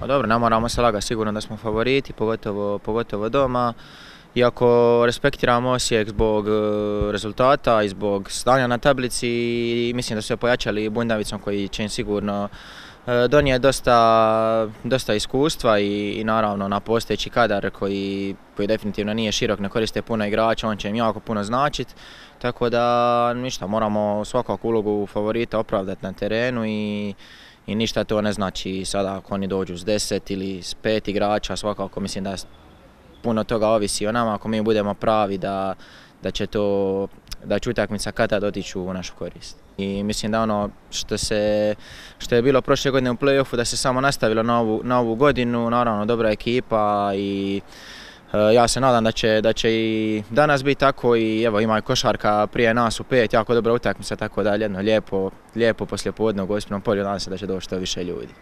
Pa dobro, ne moramo se lagati, sigurno da smo favoriti, pogotovo doma. Iako respektiramo Osijek zbog rezultata i zbog stanja na tablici, i mislim da su se pojačali Bundavicom koji će im sigurno donijeti dosta iskustva i naravno na postojeći kadar koji definitivno nije širok, ne koriste puno igrača, on će im jako puno značiti. Tako da ništa, moramo svakako ulogu favorita opravdati na terenu i ništa to ne znači sada ako oni dođu s 10 ili s 5 igrača, svakako mislim da puno toga ovisi o nama, ako mi budemo pravi da će utakmica kad-tad otići u našu korist. I mislim da ono što je bilo prošle godine u play-offu da se samo nastavilo na ovu godinu, naravno dobra ekipa i ja se nadam da će i danas biti tako i evo ima i košarka prije nas u 5, jako dobra utakmica, tako da jedno lijepo poslijepodne u Gospinom polju, nadam se da će doći što više ljudi.